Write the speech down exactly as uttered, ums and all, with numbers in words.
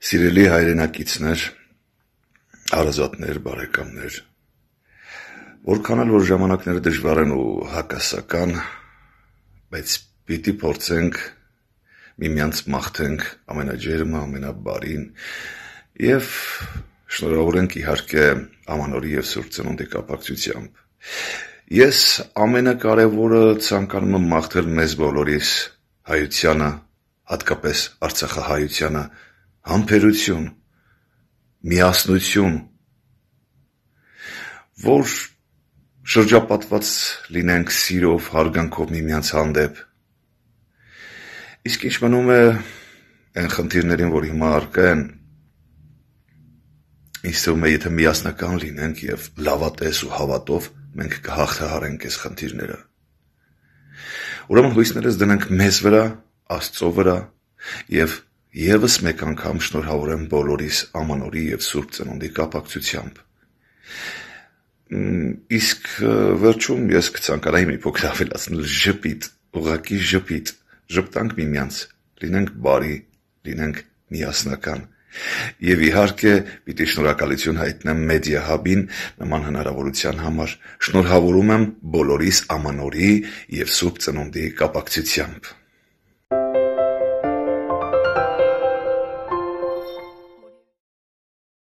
Սիրելի հայրենակիցներ, հարազատներ, բարեկամներ, որքան էլ որ ժամանակները դժվար են ու հակասական, բայց պիտի փորձենք միմյանց մաղթենք ամենաջերմը, ամենաբարին եւ շնորհավորենք իհարկե Ամանորի եւ Սուրբ Ծնունդի կապակցությամբ։ Ես ամենակարևորը ցանկանում եմ մաղթել մեզ բոլորիս հայությանը, հատկապես արցախահայությանը, համբերություն, միասնություն, որ շրջապատված լինենք սիրով, հարգանքով միմյանց հանդեպ։ Իսկ ինչ մնում է այն խնդիրներին, որ հիմա առկա են, ինձ թվում է, եթե միասնական լինենք եւ լավատես ու հավատով, մենք կհաղթահարենք այս խնդիրները։ Ուրեմն հույսներս դնենք մեզ վրա, Աստծո վրա եւ եւս մեկ անգամ շնորհավորեմ բոլորիս Ամանորի եւ Սուրբ Ծնունդի կապակցությամբ։ Իսկ վերջում ես կցանկանայի մի փոքր ավելացնել ժպիտ, ուղղակի ժպիտ, ժպտանք միմյանց, լինենք բարի, լինենք միասնական։ Եվ իհարկե պիտի շնորհակալություն հայտնեմ Մեդիա Հաբին նման հնարավորության համար։ Շնորհավորում եմ բոլորիս Ամանորի եւ Սուրբ Ծնունդի կապակցությամբ։